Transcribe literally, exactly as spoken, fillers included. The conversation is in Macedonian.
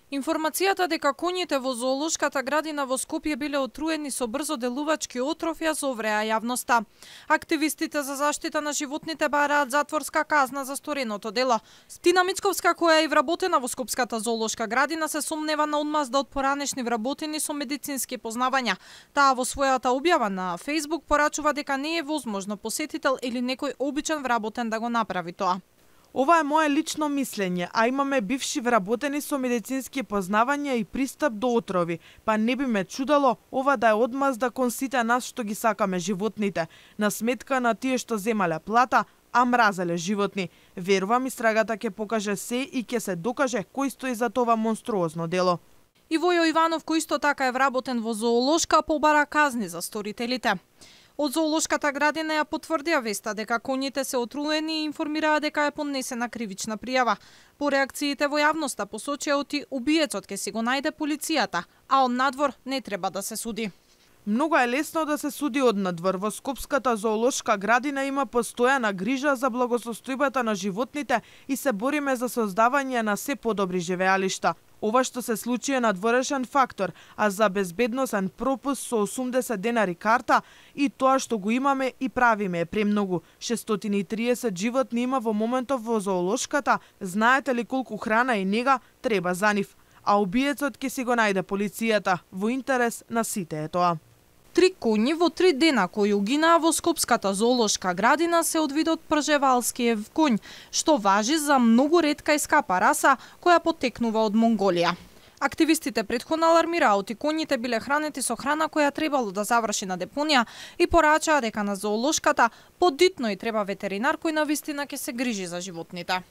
Информацијата дека коњите во зоолошката градина во Скопје биле отруени со брзо делувачки отров ја зовреа јавноста. Активистите за заштита на животните бараат затворска казна за стореното дело. Тина Мицковска, која е вработена во Скопската зоолошка градина, се сомнева на одмазда од поранешни вработени со медицински познавања. Таа во својата објава на Facebook порачува дека не е возможно посетител или некој обичен вработен да го направи тоа. Ова е мое лично мислење, а имаме бивши вработени со медицински познавања и пристап до отрови, па не би ме чудало ова да е одмазда кон сите нас што ги сакаме животните, на сметка на тие што земале плата, а мразеле животни. Верувам, истрагата ќе покаже се и ќе се докаже кој стои за това монструозно дело. И Војо Иванов, кој исто така е вработен во зоолошка, побара казни за сторителите. Од зоолошката градина ја потврдија веста дека коњите се отруени и информираа дека е поднесена кривична пријава. По реакциите во јавноста посочија оти убиецот ќе си го најде полицијата, а од надвор не треба да се суди. Многу е лесно да се суди од надвор. Во Скопската зоолошка градина има постојана грижа за благосостојбата на животните и се бориме за создавање на се подобри живеалишта. Ова што се случи е надворешен фактор, а за безбедносен пропуск со осумдесет денари карта и тоа што го имаме и правиме е премногу. шестстотини и триесет животни има во моментов во зоолошката, знаете ли колку храна и нега треба за нив? А убиецот ќе си го најде полицијата, во интерес на сите е тоа. Три коњи во три дена кои угинаа во Скопската зоолошка градина се од видот пржевалскиев коњ, што важи за многу ретка и скапа раса која потекнува од Монголија. Активистите претходно алармираа оти коњите биле хранети со храна која требало да заврши на депонија и порачаа дека на зоолошката подитно и треба ветеринар кој навистина ќе се грижи за животните.